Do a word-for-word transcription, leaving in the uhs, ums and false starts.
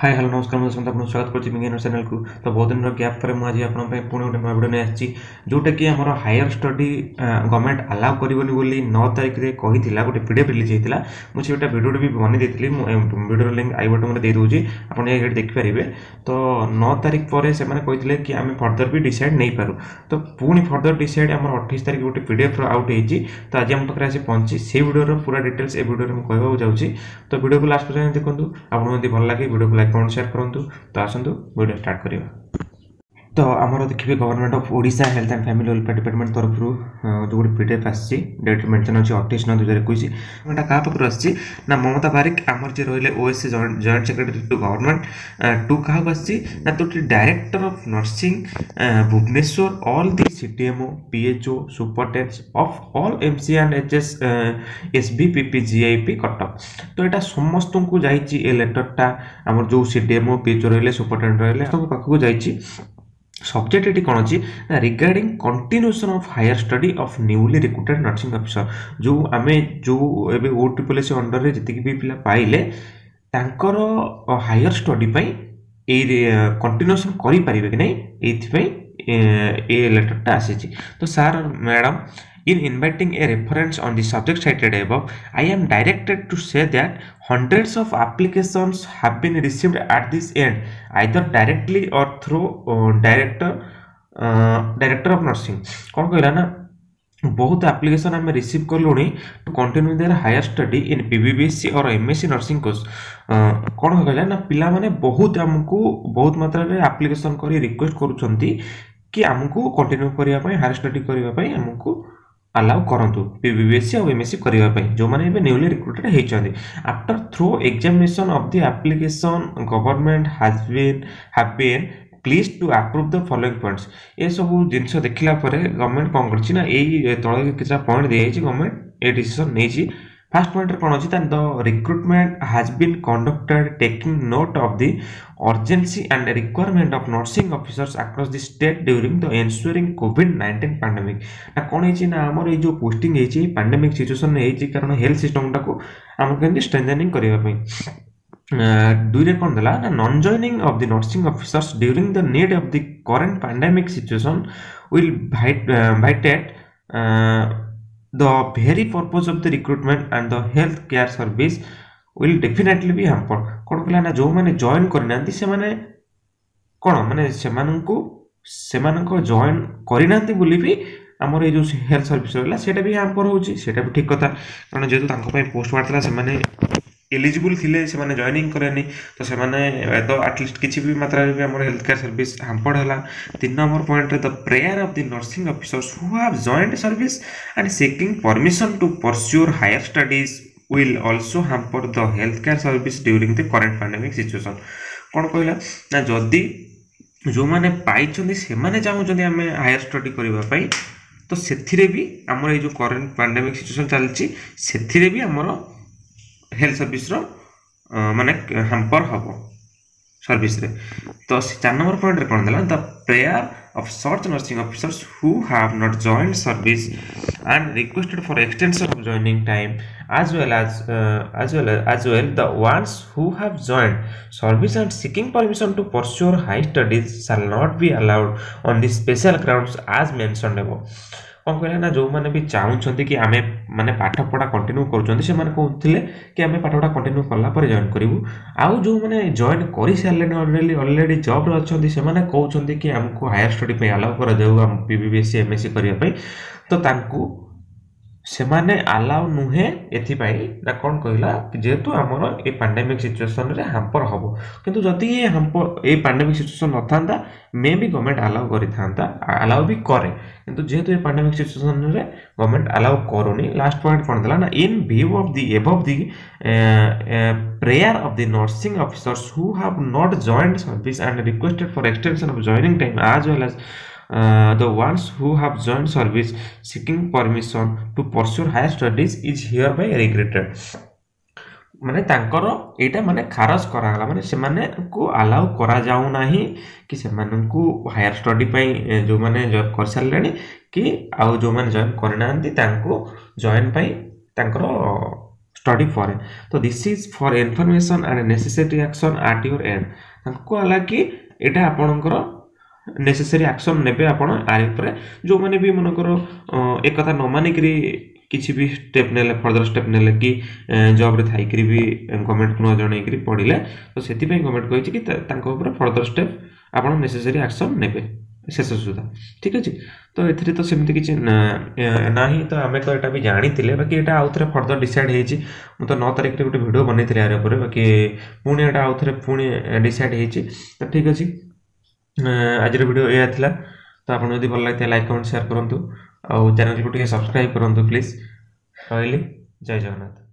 High hello ନମସ୍କାର ମୁଁ ଦଶମନ୍ତ ଆପଣଙ୍କୁ ସ୍ୱାଗତ କରୁଛି ବିଜ୍ଞାନ ଚ୍ୟାନେଲକୁ ତ ବହୁତ ଦିନର ଗ୍ୟାପ୍ ପରେ ମୁଁ ଆଜି ଆପଣଙ୍କ ପାଇଁ ପୁଣି ଗୋଟେ ନୂଆ ଭିଡ଼ିଓ ନେଇ ଆସିଛି ଯେଉଁଟାକି ଆମର ହାୟର ଷ୍ଟଡି ଗଭର୍ଣ୍ଣମେଣ୍ଟ ଆଲାଉ କରିବନି ବୋଲି ନଅ ତାରିଖରେ କହିଥିଲା ଗୋଟେ ପି ଡି ଏଫ୍ ରିଲିଜ୍ ହେଇଥିଲା ମୁଁ ସେଇଟା ଭିଡ଼ିଓଟି ବି ବନେଇ ଦେଇଥିଲି ମୁଁ ଭିଡ଼ିଓର ଲିଙ୍କ୍ I ବଟନ୍ରେ ଦେଇଦେଉଛି ଆପଣ ଯାଇକି ଏଠି ଦେଖିପାରିବେ ତ ନଅ ତାରିଖ ପରେ ସେମାନେ କହିଥିଲେ କି ଆମେ ଫର୍ଦର ବି ଡିସାଇଡ଼୍ ନେଇପାରୁ ତ ପୁଣି ଫର୍ଦର ଡିସାଇଡ଼୍ ଆମର ଅଠେଇଶ ତାରିଖ ଗୋଟେ ପି ଡି ଏଫ୍ର ଆଉଟ୍ ହେଇଛି ତ ଆଜି ଆମ ପାଖରେ ଆସି ପହଞ୍ଚି ସେଇ ଭିଡ଼ିଓର ପୁରା ଡିଟେଲ୍ସ ଏ ଭିଡ଼ିଓରେ ମୁଁ କହିବାକୁ ଯାଉଛି ତ ଭିଡ଼ିଓକୁ ଲାଷ୍ଟ ପର୍ଯ୍ୟନ୍ତ ଦେଖନ୍ତୁ ଆପଣଙ୍କୁ ଯଦି ଭଲ ଲାଗେ ଭିଡ଼ିଓକୁ ଲାଇକ୍ କମେଣ୍ଟ ସେୟାର କରନ୍ତୁ ତ ଆସନ୍ତୁ ଭିଡ଼ିଓ ଷ୍ଟାର୍ଟ କରିବା ତ ଆମର ଦେଖିବେ Government of Odisha Health and Family Welfare Department ତରଫରୁ ଯେଉଁ ଗୋଟେ ପି ଡି ଏଫ୍ ଆସିଛି ଡେଟ୍ ମେନସନ୍ ଅଛି ଅଠେଇଶ ନଅ ଦୁଇ ହଜାର ଏକୋଇଶ ଏଇଟା କାହା ପାଖରୁ ଆସିଛି ନା ମମତା ବାରିକ ଆମର ଯିଏ ରହିଲେ OSC Joint Secretary to Government to କାହାକୁ ଆସିଛି ନା ତ Director of Nursing Bhubaneswar all the CDMO PHO Superintendents of all MC and HS SVPPGIP Cuttack ତ ଏଇଟା ସମସ୍ତଙ୍କୁ ଯାଇଛି ଏ ଲେଟରଟା ଆମର ଯେଉଁ C D M O P H O ରହିଲେ ସୁପରଟେଣ୍ଡେଣ୍ଟ ରହିଲେ ସମସ୍ତଙ୍କ ପାଖକୁ ଯାଇଛି ସବଜେକ୍ଟ ଏଠି କ'ଣ ଅଛି ନା regarding continuation of higher study of newly recruited nursing officer ଯେଉଁ ଆମେ ଯେଉଁ ଏବେ ଓ ଟ୍ରିପଲ୍ ଏସ୍ ଅଣ୍ଡରରେ ଯେତିକି ବି ପିଲା ପାଇଲେ ତାଙ୍କର ହାୟର ଷ୍ଟଡି ପାଇଁ ଏଇ କଣ୍ଟିନ୍ୟୁସନ୍ କରିପାରିବେ କି ନାହିଁ ଏଇଥିପାଇଁ ଏ ଲେଟରଟା ଆସିଛି ତ sir madam In inviting a reference on the subject cited above, I am directed to say that hundreds of applications have been received at this end, either directly or through uh, director uh, director of nursing. କ'ଣ କହିଲା ନା ବହୁତ application ଆମେ receive କଲୁଣି to continue their higher study in PBBSc or MSc nursing course କ'ଣ କହିଲା ନା ପିଲାମାନେ ବହୁତ ଆମକୁ ବହୁତ ମାତ୍ରାରେ ଆପ୍ଲିକେସନ୍ କରି ରିକ୍ୱେଷ୍ଟ କରୁଛନ୍ତି କି ଆମକୁ କଣ୍ଟିନ୍ୟୁ କରିବା ପାଇଁ ହାୟର ଷ୍ଟଡି କରିବା ପାଇଁ ଆମକୁ ଆଲାଉ କରନ୍ତୁ ପି ବି ବି ଏସ୍ ସି ଆଉ ଏମ୍ ଏସ୍ ସି କରିବା ପାଇଁ ଯେଉଁମାନେ ଏବେ ନ୍ୟୁଲି ରିକ୍ରୁଟେଡ୍ ହେଇଛନ୍ତି after thorough examination of the application government has been have been pleased to approve the following points ଏସବୁ ଜିନିଷ ଦେଖିଲା ପରେ ଗଭର୍ଣ୍ଣମେଣ୍ଟ କ'ଣ କରିଛି ନା ଏଇ ତଳେ କିଛିଟା ପଏଣ୍ଟ ଦିଆଯାଇଛି ଗଭର୍ଣ୍ଣମେଣ୍ଟ ଏ ଡିସିସନ୍ ନେଇଛି ଫାର୍ଷ୍ଟ ପଏଣ୍ଟରେ କ'ଣ ଅଛି ତାହେଲେ the recruitment has been conducted taking note of the urgency and requirement of nursing officers across the state during the ensuing COVID nineteen pandemic ନା କ'ଣ ହେଇଛି ନା ଆମର ଏଇ ଯେଉଁ ପୋଷ୍ଟିଂ ହେଇଛି ପାଣ୍ଡେମିକ୍ ସିଚୁଏସନ୍ ହେଇଛି କାରଣ ହେଲ୍ଥ ସିଷ୍ଟମଟାକୁ ଆମକୁ କେମିତି ଷ୍ଟ୍ରେନ୍ଥେନିଂ କରିବା ପାଇଁ ଦୁଇରେ କ'ଣ ଦେଲା ନା non joining of the nursing officers during the need of the current pandemic situation will violate the very purpose of the recruitment and the health care service will definitely be hampered କ'ଣ କଲା ନା ଯେଉଁମାନେ join କରିନାହାନ୍ତି ସେମାନେ କ'ଣ ମାନେ ସେମାନଙ୍କୁ ସେମାନଙ୍କ ଜଏନ୍ କରିନାହାନ୍ତି ବୋଲି ବି ଆମର ଏଇ ଯେଉଁ ହେଲ୍ଥ ସର୍ଭିସ୍ ରହିଲା ସେଇଟା ବି ହ୍ୟାମ୍ପର ହେଉଛି ସେଇଟା ବି ଠିକ୍ କଥା କାରଣ ଯେହେତୁ ତାଙ୍କ ପାଇଁ ପୋଷ୍ଟ ବାହାରିଥିଲା ସେମାନେ ଏଲିଜିବୁଲ୍ ଥିଲେ ସେମାନେ ଜଏନିଂ କଲେନି ତ ସେମାନେ ତ ଆଟଲିଷ୍ଟ କିଛି ବି ମାତ୍ରାରେ ବି ଆମର ହେଲ୍ଥ କେୟାର ସର୍ଭିସ୍ ହାମ୍ପର୍ଡ ହେଲା ତିନି ନମ୍ବର ପଏଣ୍ଟରେ the prayer of the nursing officers who have joined service and seeking permission to pursue higher studies will also hamper the health care service during the current pandemic situation କ'ଣ କହିଲା ନା ଯଦି ଯେଉଁମାନେ ପାଇଛନ୍ତି ସେମାନେ ଚାହୁଁଛନ୍ତି ଆମେ ହାୟର ଷ୍ଟଡି କରିବା ପାଇଁ ତ ସେଥିରେ ବି ଆମର ଏଇ ଯେଉଁ କରେଣ୍ଟ ପାଣ୍ଡେମିକ୍ ସିଚୁଏସନ୍ ଚାଲିଛି ସେଥିରେ ବି ଆମର ହେଲ୍ଥ ସର୍ଭିସର ମାନେ ହ୍ୟାମ୍ପର ହେବ ସର୍ଭିସରେ ତ ସେ ଚାରି ନମ୍ବର ପଏଣ୍ଟରେ କ'ଣ ଦେଲା the prayer of such nursing officers who have not joined service and requested for extension of joining time as well as uh, as well as, as well the ones who have joined service and seeking permission to pursue high studies shall not be allowed on the special grounds as mentioned above କ'ଣ କହିଲା ନା ଯେଉଁମାନେ ବି ଚାହୁଁଛନ୍ତି କି ଆମେ ମାନେ ପାଠପଢ଼ା continue କରୁଛନ୍ତି ସେମାନେ କହୁଥିଲେ କି ଆମେ ପାଠପଢ଼ା କଣ୍ଟିନ୍ୟୁ କଲା ପରେ ଜଏନ୍ କରିବୁ ଆଉ ଯେଉଁମାନେ ଜଏନ୍ କରିସାରିଲେଣି ଅଲରେଡ଼ି ଅଲରେଡ଼ି ଜବ୍ରେ ଅଛନ୍ତି ସେମାନେ କହୁଛନ୍ତି କି ଆମକୁ ହାୟର ଷ୍ଟଡି ପାଇଁ ଆଲାଉ କରାଯାଉ ଆମ P B B S C M S C କରିବା ପାଇଁ ତ ତାଙ୍କୁ ସେମାନେ ଆଲାଉ ନୁହେଁ ଏଥିପାଇଁ ନା କ'ଣ କହିଲା କି ଯେହେତୁ ଆମର ଏ ପାଣ୍ଡେମିକ୍ ସିଚୁଏସନ୍ରେ ହାମ୍ପର ହେବ କିନ୍ତୁ ଯଦି ଏ ହାମ୍ପର ଏଇ ପାଣ୍ଡେମିକ୍ ସିଚୁଏସନ୍ ନଥାନ୍ତା ମେ ବି ଗଭର୍ଣ୍ଣମେଣ୍ଟ ଆଲାଉ କରିଥାନ୍ତା ଆଲାଉ ବି କରେ କିନ୍ତୁ ଯେହେତୁ ଏ ପାଣ୍ଡେମିକ୍ ସିଚୁଏସନ୍ରେ ଗଭର୍ଣ୍ଣମେଣ୍ଟ ଆଲାଉ କରୁନି ଲାଷ୍ଟ ପଏଣ୍ଟ କ'ଣ ଦେଲା ନା in view of the above the prayer of the nursing officers who have not joined service and requested for extension of joining time as well as uh, the ones who have joined service seeking permission to pursue higher studies is hereby regretted ମାନେ ତାଙ୍କର ଏଇଟା ମାନେ ଖାରଜ କରାଗଲା ମାନେ ସେମାନଙ୍କୁ allow କରାଯାଉନାହିଁ କି ସେମାନଙ୍କୁ ହାୟର ଷ୍ଟଡି ପାଇଁ ଯେଉଁମାନେ ଜଏନ୍ କରିସାରିଲେଣି କି ଆଉ ଯେଉଁମାନେ ଜଏନ୍ କରିନାହାନ୍ତି ତାଙ୍କୁ ଜଏନ୍ ପାଇଁ ତାଙ୍କର ଷ୍ଟଡି ପାଇଁ ଆଲାଉ କରାଯାଉନାହିଁ ତ study foreign ତ this is for information and necessary action at your end ତାଙ୍କୁ କୁହାଗଲା କି ଏଇଟା ଆପଣଙ୍କର ନେସେସରି ଆକ୍ସନ୍ ନେବେ ଆପଣ ୟାରି ଉପରେ ଯେଉଁମାନେ ବି ମନେକର ଏକଥା ନ ମାନିକିରି କିଛି ବି ଷ୍ଟେପ୍ ନେଲେ ଫର୍ଦର ଷ୍ଟେପ୍ ନେଲେ କି ଜବ୍ରେ ଥାଇକିରି ବି ଗଭର୍ଣ୍ଣମେଣ୍ଟକୁ ନ ଜଣେଇକିରି ପଢ଼ିଲେ ତ ସେଥିପାଇଁ ଗଭର୍ଣ୍ଣମେଣ୍ଟ କହିଛି କି ତାଙ୍କ ଉପରେ ଫର୍ଦର ଷ୍ଟେପ୍ ଆପଣ ନେସେସରି ଆକ୍ସନ୍ ନେବେ ଶେଷ ସୁଦ୍ଧା ଠିକ୍ ଅଛି ତ ଏଥିରେ ତ ସେମିତି କିଛି ନାହିଁ ତ ଆମେ ତ ଏଇଟା ବି ଜାଣିଥିଲେ ବାକି ଏଇଟା ଆଉ ଥରେ ଫର୍ଦର ଡିସାଇଡ଼୍ ହେଇଛି ମୁଁ ତ ନଅ ତାରିଖରେ ଗୋଟେ ଭିଡ଼ିଓ ବନେଇଥିଲି ୟାର ଉପରେ ବାକି ପୁଣି ଏଇଟା ଆଉ ଥରେ ପୁଣି ଡିସାଇଡ଼୍ ହେଇଛି ତ ଠିକ୍ ଅଛି ଆଜିର ଭିଡ଼ିଓ ଏଇଆ ଥିଲା ତ ଆପଣ ଯଦି ଭଲ ଲାଗିଥାଏ ଲାଇକ୍ କମେଣ୍ଟ ସେୟାର କରନ୍ତୁ ଆଉ ଚ୍ୟାନେଲକୁ ଟିକେ ସବସ୍କ୍ରାଇବ୍ କରନ୍ତୁ ପ୍ଲିଜ୍ ରହିଲି ଜୟ ଜଗନ୍ନାଥ